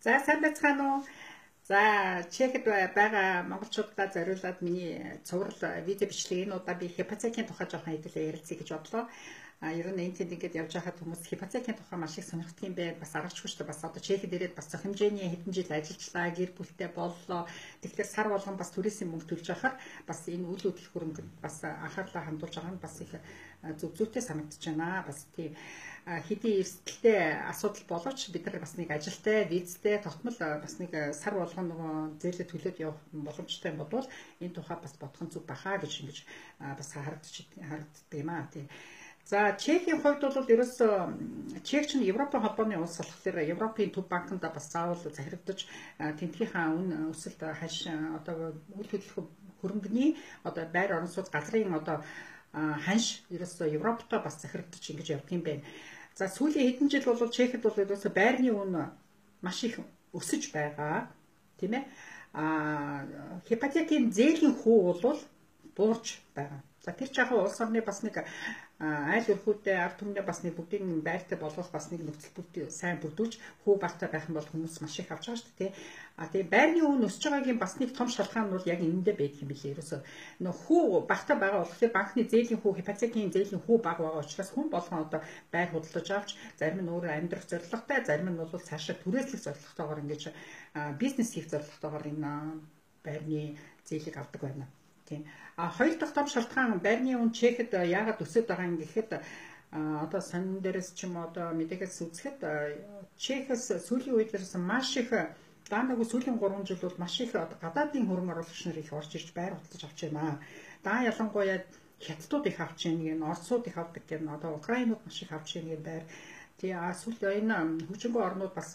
За сайн байцгаана уу? За Чехэд байгаа монголчуудаа зориулаад миний цуврал видео бичлэг энэ удаа би хепатитын тухай жоохон хэдүүлээ ярилцъя гэж бодлоо. Ер нь энэ тэнд ингээд явж байхад хүмүүс хепатитын тухай маш их сонирхдаг юм байна. Бас аргачлгүй шүү дээ. Бас одоо Чехэд ирээд бас зөх хэмжээний хэдэн жил ажиллажлаа, гэр бүлтэй боллоо. Тэгэхээр сар болгон бас түрээсийн мөнгө төлж байхаар бас энэ үйл хөдлөх хөрөнгөнд бас анхаарлаа хандуулж байгаа нь бас их зүг зүйтэй санагдаж байна. Бас тийм хэдийн эрсдэлтэй асуудал боловч бид нар бас нэг ажилтай, визтэй, тогтмол бас нэг сар болгон нөгөө зээлээ төлөөд явах боломжтой юм бол энэ тухай бас бодох нь зүг бахаа гэж ингэж бас харагддаг юм аа тий. За Чехийн хувьд бол ерөөсөө Чех чинь Европын холбооны улс болохоор Европын төв банкнд бас заавал захирагдаж тентгийнхаа үн өсөлт хаш одоо үйл хөдлөх хөрөнгөний одоо байр орон сууц газрын одоо ханш ерөөсөө Европтой бас захирагдаж ингэж явдаг юм байна. За сүүлийн хэдэн жил бол Чехэд бол ерөөсөө байрны үн маш их өсөж байгаа тийм ээ. Хепатитын зээлийн хүү бол буурч байгаа. За тэр жаахан улс орны бас нэг айл өрхүүдээ ард түмнээ бас нэг бүгдийн байртай болгох бас нэг нөхцөл бүрдийг сайн бүрдүүлж хүү багтаа байх юм бол хүмүүс маш их авч байгаа шүү дээ. Тэгээ байрны үн өсөж байгаагийн бас нэг том шалтгаан нь бол яг энэндээ байдаг юм билээ. Ерөөсөө нөх хүү багтаа байгаа болохоор банкны зээлийн хүү, хепатитын зээлийн хүү бага байгаа учраас хүн болгон одоо байр худалдаж авч зарим нь өөрөө амьдрах зорилготой, зарим нь бол цаашаа түрээслэх зорилготойгоор ингэж бизнес хийх зорилготойгоор энэ байрны зээлийг авдаг байна. Тийм. Хоёр дахь том шалтгаан байрны үн Чехэд яагаад өсөж байгаа юм гэхэд одоо сонин дээрээс ч юм одоо мэдээхээс үзэхэд Чехээс сүүлийн үед маш их даанаг сүүлийн 3 жил бол маш их гадаадын хөрөнгө оруулагч нар их орж ирж байр худалдаж авч байна. Даа ялангуяа хятадууд их авч байна, оросууд их авдаг гэн одоо украинууд маш их авч байна байр. Тэгээ сүүлийн энэ хүчингүй орнууд бас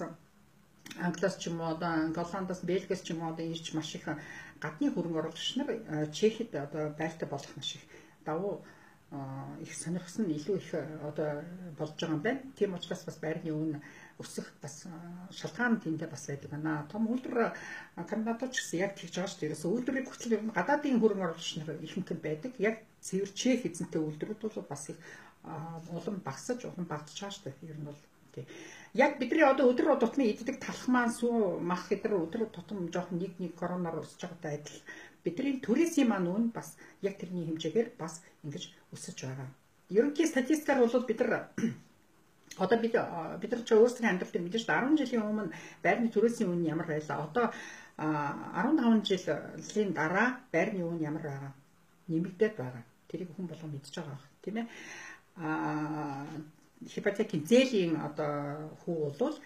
Англиас ч юм уу одоо Голландаас, Бельгиас ч юм уу одоо ирж маш их гадны хөрөнгө оруулагч нар Чехэд одоо байртай болох маш их давуу их сонирхсон илүү их одоо болж байгаа юм байна. Тийм учраас бас байрны үн өсөх бас шалтгаан тэндээ бас байдаг байна. Том үйлдвэр Канадад ч гэсэн яг тэгж байгаа шүү дээ. Ерөөсөө үйлдвэрийг хүчил ер нь гадаадын хөрөнгө оруулагч нар ихэнх нь байдаг. Яг цэвэр Чех эзэнтэй үйлдвэрүүд бол бас их улам багасж байгаа шүү дээ. Ер нь бол тий. Яг бидний одоо өдөр тутмын иддэг талхмаан сүү мах хэдэр өдөр тутам жоохон нэг коронавирус өсөж байгаатай адил бидний түрээсийн маань үн бас яг тэрний хэмжээгээр бас ингэж өсөж байгаа. Ерөнхий статистикаар бол бид нар одоо бид нар ч өөрсдийн амьдрал дээр мэдээж 10 жилийн өмнө байрны түрээсийн үн ямар байлаа. Одоо 15 жилийн дараа байрны үн ямар байгаа нэмэгдээд байгаа. Тэрийг хүн болгон мэдж байгаа тийм ээ. Хепатитын зээлийн одоо хүү бол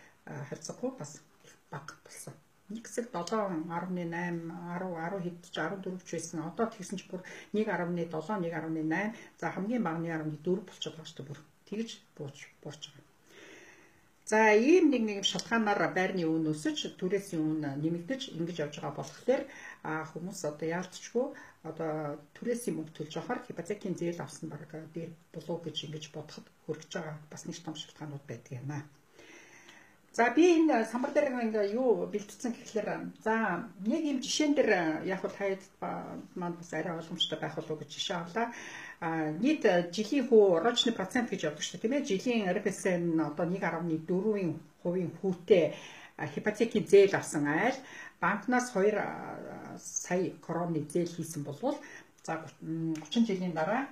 харьцангуй бас бага болсон. Нэг хэсэг 7.8, 10 хэд ч 14 ч байсан. Одоо тэгсэн ч бүр 1.7, 1.8, за хамгийн бага 1.4 болчиход байгаа шүү дээ бүр. Тэгж буурч байгаа. За ийм нэг шалтгаанаар байрны үн өсөж, түрээсийн үн нэмэгдэж ингэж явж байгаа болохоор хүмүүс одоо яалтчгүй одоо түрээсийн мөнгө төлж авахар хепатитын зээл авсан баг дээр болов гэж ингэж бодоход хүрэж байгаа бас нэг том шалтгаанууд байдаг юм аа. За би энэ самбар дээр ингээ юу бэлтгэсэн гэхэлэр за нэг юм жишээн дээр яг хөө таад маань бас арай ойлгомжтой байх болов гэж жишээ авлаа. Нийт жилийн хүү рочны процент гэж явдаг шүү дээ тийм ээ. Жилийн РПС-н одоо 1.4% хүүтэй хепатитын зээл авсан айл банкнаас 2 сая кроны зээл хийсэн болвол за 30 жилийн дараа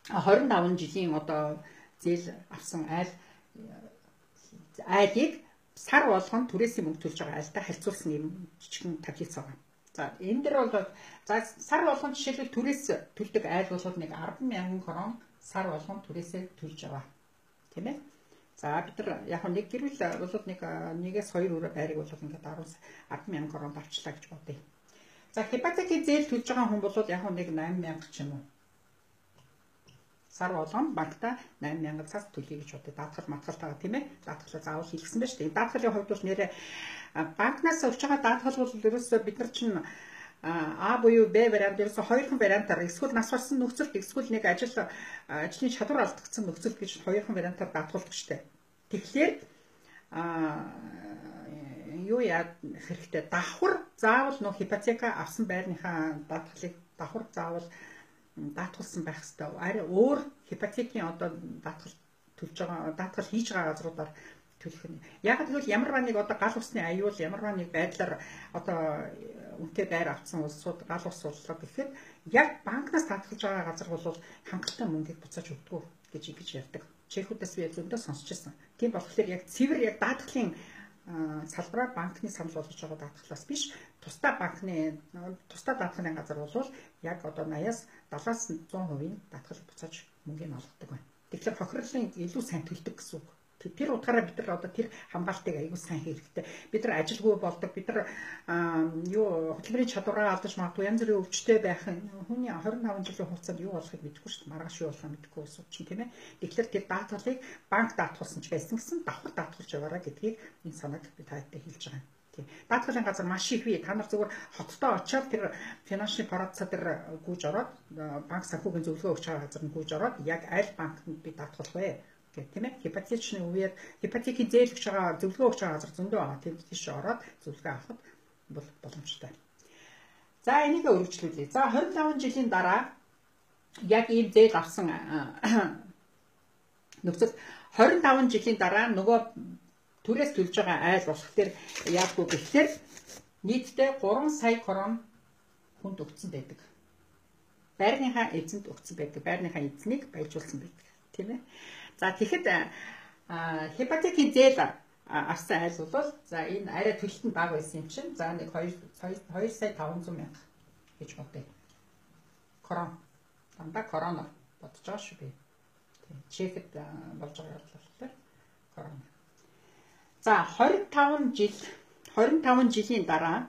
25 жилийн одоо зээл авсан айлыг сар болгон түрээсийн мөнгө төлж байгаа айлтай харьцуулсан юм жижигэн таблиц байгаа. За энэ дээр бол за сар болгон жишээлбэл түрээс төлдөг айл бол нэг 10,000 крон сар болгон түрээсээ төлж байгаа. Тийм ээ. За бид нар яг нэг гэрүүл бол нэгээс 2 өрөө байрыг бол ингээд 10,000 крон авчлаа гэж бодъё. За хепатитын зээл төлж байгаа хүн бол яг нэг 8,000 ч юм уу. Сар болгон банкта 8,000 цас төлье гэж бодъё. Даатгал матгалтайгаа тийм ээ. Даатгалаа заавал хийлгсэн байна шүү дээ. Даатгалын хувьд бол нэрээ банкнаас авч байгаа даатгал бол ерөөсөө бид нар чинь А буюу Б вариант ерөөсөө хоёрхан вариантаар эсвэл нас барсан нөхцөлд эсвэл нэг ажлын чадвар алдагдсан нөхцөлд гэж хоёрхан вариантаар даатгалдаг шүү дээ. Тэгэхээр юу яа хэрэгтэй давхар заавал нөх хепатика авсан байрныхаа даатгалыг давхар заавал даатгалсан байх хэрэгтэй. Арай өөр хепатитын одоо даатгал төлж байгаа даатгал хийж байгаа газруудаар төлөх нь. Яг тэгвэл ямар нэг одоо гал усны аюул, ямар нэг байдлаар одоо үнэтэй байр авсан улсууд гал ус сууллаа гэхэд яг банкнаас татгалж байгаа газар бол хангалттай мөнгийг буцааж өгдөг гэж ярьдаг. Чехүүдээс би зөндөө сонсч байсан. Тийм болохоор яг цэвэр яг даатгалын салбараар банкны санал болгож байгаа даатгалаас биш, тусдаа даатгалын газар бол яг одоо 80-аас 70-аас 100% даатгал буцааж мөнгөний олгодог байна. Тэгэхээр хохирлын илүү сайн төлдөг гэсэн үг. Тэр утгаараа бид нар одоо тэр хамгаалтыг аягүй сайн хийх хэрэгтэй. Бид нар ажилгүй болдог. Бид нар хөтөлбөрийн чадвараа алдаж магадгүй янз бүрийн өвчтөй байх хүний 25 жилийн хугацаанд юу болохыг мэдэхгүй шүү дээ. Маргааш юу болохыг мэдэхгүй ус чинь тийм ээ. Тэгэхээр тэр даатгалыг банк даатгуулсан ч байсан гэсэн давхар даатгуулж яваараа гэдгийг энэ санааг би таадтай хэлж байгаа юм. Тийм. Даатгалын газар маш их бий. Та нар зөвхөн хоттой очиод тэр финансны парацаа дээр гүйж ороод банк санхүүгийн зөвлөгөө өгч байгаа газар нь гүйж ороод яг аль банкнд би даатгуулах вэ? Тийм ээ. Ипотечны үеэр ипотекийн зээл өгч байгаа зөвлөгөө өгч байгаа газар зөндөө байгаа. Тэнд тийш ороод зөвлөгөө авахд бол боломжтой. За энийг өргөжлүүлье. За 25 жилийн дараа яг ийм зээл авсан нөхцөл 25 жилийн дараа нөгөө түрээс төлж байгаа айл болох тэр яаггүй гэхээр нийтдээ 3 сая крон хүнд өгсөн байдаг. Байрныхаа эзэнд өгсөн байдаг. Байрныхаа эзнийг баяжуулсан байдаг. Тийм ээ. За тэгэхэд ипотекийн зээл авсан айл бол за энэ арай төлөлт нь бага байсан юм чинь за нэг 2 сая 500 мянга гэж бодъё. Крон. Дандаа короноор бодож байгаа шүү би. Тийм. Чехэд болж байгаа болохоор корона. За 25 жилийн дараа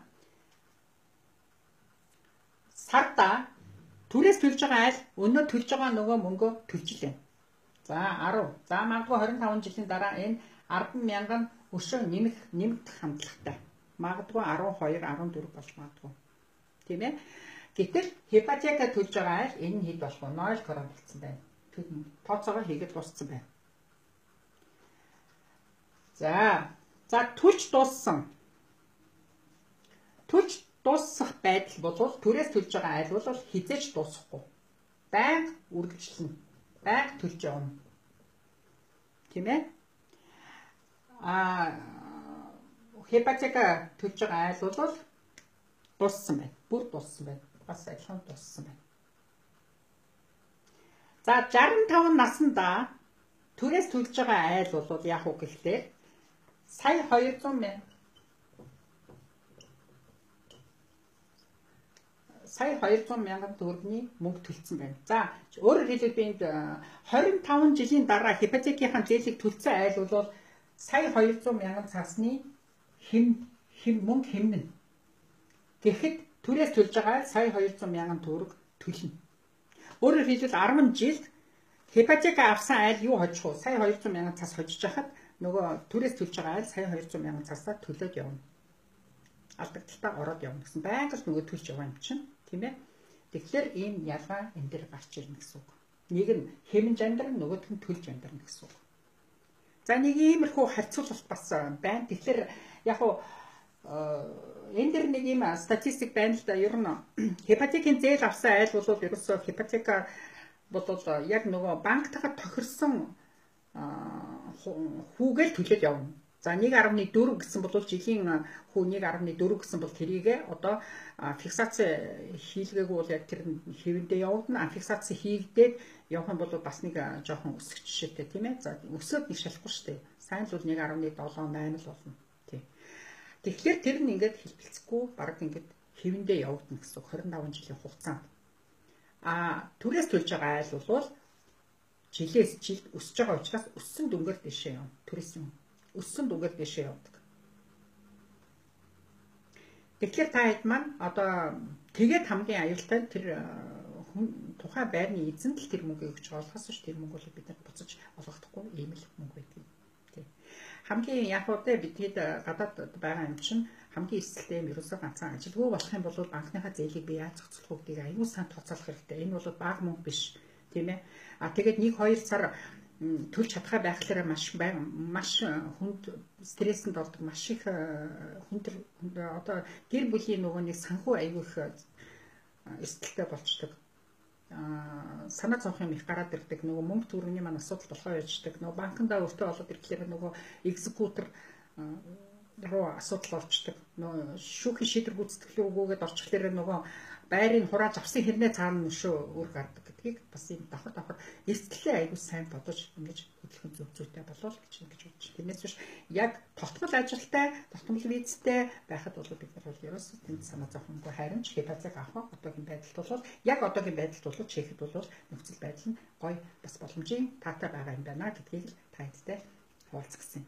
сарда түрээс төлж байгаа айл өнөө төлж байгаа нөгөө мөнгөө төлжлээ. За 10. За магадгүй 25 жилийн дараа энэ 10,000 өшөө нэмэгдэх хандлагатай. Магадгүй 12, 14 болж магадгүй. Тийм ээ. Гэтэл ипотека төлж байгаа айл энэ нь хэд болох вэ? 0 крон болсон байна. Тооцоогоо хийгээд дууссан байна. За төлж дууссан. Төлж дуусах байдал бол түрээс төлж байгаа айл бол хизээж дуусахгүй. Байнга үргэлжлэнэ. Байнга төлж явна. Тийм ээ? Ипотека төлж байгаа айл бол дууссан байна. Бүр дууссан байна. Бас адилхан дууссан байна. За 65 наснда түрээс төлж байгаа айл бол яах вэ гэхлээр сая 200 мянга төгрөгийн мөнгө төлсөн байна. За өөрөөр хэлбэл би энд 25 жилийн дараа ипотекийн зээлийг төлсөн айл бол сая 200 мянган цаасны мөнгө хэмнэн. Тэгэхэд түрээс төлж байгаа сая 200 мянган төгрөг төлнө. Өөрөөр хэлбэл 10 жилд ипотека авсан айл юу хожих вэ? Сая 200 мянган цаас хожиж хахад нөгөө түрээс төлж байгаа айл сая 200 мянган цаасаа төлөөд явна. Алдагдaltaа ороод явна гэсэн байнга л нөгөө төлж яваа юм чинь, тийм ээ. Тэгэхээр ийм ялгаа энэ дээр гарч ирнэ гэсэн үг. Нэг нь хэмнж амьдран, нөгөөх нь төлж амьдран гэсэн үг. За нэг иймэрхүү харьцуулалт бас байна. Тэгэхээр яг уу энэ дэр нэг юм статистик байна л да. Ер нь ипотекийн зээл авсан айл бол ерөөсөө ипотека бол яг нөгөө банктайгаа тохирсон хүүгээл төлөөд явна. За 1.4 гэсэн бол жилийн хүү 1.4 гэсэн бол тэрийгээ одоо фиксаци хийлгээгүй бол яг тэр хэвэндээ явагдана. Фиксаци хийгдээд явах юм бол бас нэг жоохон өсөх жишээтэй тийм ээ. За өсөөд нэг шалахгүй шүү дээ. Сайн л бол 1.7 8 л болно. Тийм. Тэгэхээр тэр нь ингээд хэлбэлцэхгүй баг ингээд хэвэндээ явагдана гэсэн 25 жилийн хугацаанд. Түрээс төлж байгаа айл бол жилээс жилд өсөж байгаа учраас өссөн дүнгээр дэшээ явна. Түрээс юм. Өссөн дүнгээр дэшээ явдаг. Тэгэхээр та хэд маань одоо тэгээд хамгийн аюултай нь тэр тухайн байрны эзэнт л тэр мөнгөийг өгч байгаа болохоос ш тэр мөнгө бол бид нар буцаж олгохдохгүй ийм л мөнгө байдаг. Тийм. Хамгийн яг уу бидний гадаад байгаа юм чинь хамгийн эсэлтэй юм ерөөсөө ганцхан ажилгүй болох юм бол банкныхаа зээлийг би яаж зохицуулах гэдгийг аюул сан тооцоолох хэрэгтэй. Энэ бол бага мөнгө биш, тийм ээ. Тэгээд 1-2 сар төлж чадхаа байхлаараа маш хүнд стрессэнд ордог, маш их хүнд одоо гэр бүлийн нөгөө нэг санхүү аюул их эрсдэлтэй болчдөг. санаа зовх юм их гараад ирдэг. Нөгөө мөнгө төгрөгийн маань асуудал болохоо яждаг. Нөгөө банкндаа өөртөө болоод ирэхлээр нөгөө экзекутор руу асуудал олчдаг. Нөгөө шүүхийн шийдвэр гүйцэтгэлийн үгүйгээд орчихлоор нөгөө байрыг хурааж авсан хэрнээ цаана нөшөө үр гардаг гэдгийг бас юм давхар эрсдлээ аягүй сайн бодож ингэж хөдөлгөөн зөв зүйтэй болов гэж ингэж бодож. Тэрнээс биш яг тогтмол ажилтай, тогтмол визтэй байхад бол бид нар бол ерөөсөө тэнд санаа зовхонгүй харин ч хязгаарлалт авах одоогийн байдалд бол яг одоогийн байдалд бол чихэд бол нөхцөл байдал нь гоё бас боломжийн таатай байгаа юм байна гэдгийг та хэдтэй хуваалцсан.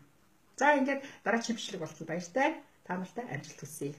За ингээд дараагийн бичлэг болтол баяртай. Та нартай амжилт хүсье.